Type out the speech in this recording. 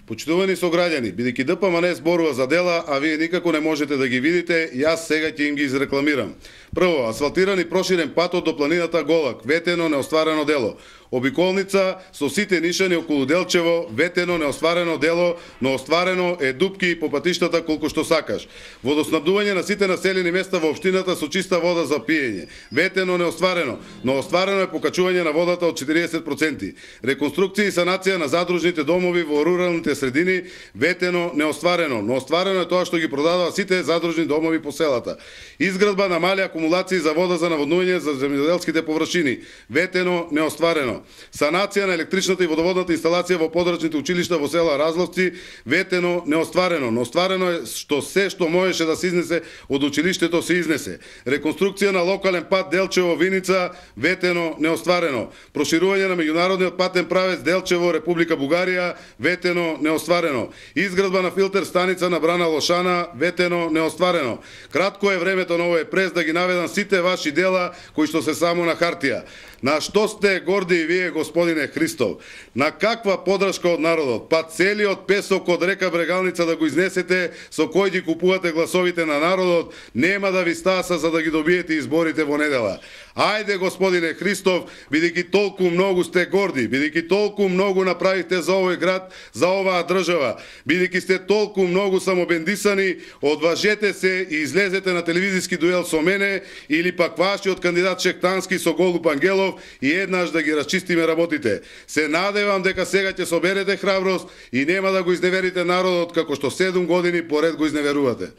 Почитувани сограѓани, бидејќи ДПМН зборува за дела, а вие никако не можете да ги видите, јас сега ќе им ги изрекламирам. Прво, асфалтиран и проширен патот до планината Голак, ветено неостварено дело. Обиколница со сите нишани околу Делчево, ветено неостварено дело, но остварено е дупки по патиштата колку што сакаш. Водоснабдување на сите населени места во општината со чиста вода за пиење, ветено неостварено, но остварено е покачување на водата од 40%. Реконструкција и санација на задружните домови во руралните средини, ветено неостварено, но остварено е тоа што ги продадува сите задружни домови по селата. Изградба на мали акумулации за вода за наводнување за земјоделските површини, ветено неостварено. Санација на електричната и водоводната инсталација во подрачните училишта во села Разловци, ветено неостварено, но остварено е што се што можеше да се изнесе од училиштето се изнесе. Реконструкција на локален пат Делчево-Виница, ветено неостварено. Проширување на меѓународниот патен правец Делчево, Република Бугарија, ветено неостварено. Изградба на филтер станица на брана Лошана, ветено неостварено. Кратко е времето на овој прес да ги наведам сите ваши дела кои што се само на хартија. На што сте горди и вие, господине Христов? На каква подршка од народот? Па целиот песок од река Брегалница да го изнесете, со кој ги купувате гласовите на народот, нема да ви стаса за да ги добиете изборите во недела. Ајде, господине Христов, бидејќи толку многу сте горди, бидејќи толку многу направивте за овој град, за оваа држава, бидејќи сте толку многу самобендисани, одважете се и излезете на телевизиски дуел со мене или пак вашиот кандидат Шектански со Голуб Ангелов и еднаш да ги расчистиме работите. Се надевам дека сега ќе соберете храброст и нема да го изневерите народот како што 7 години поред го изневерувате.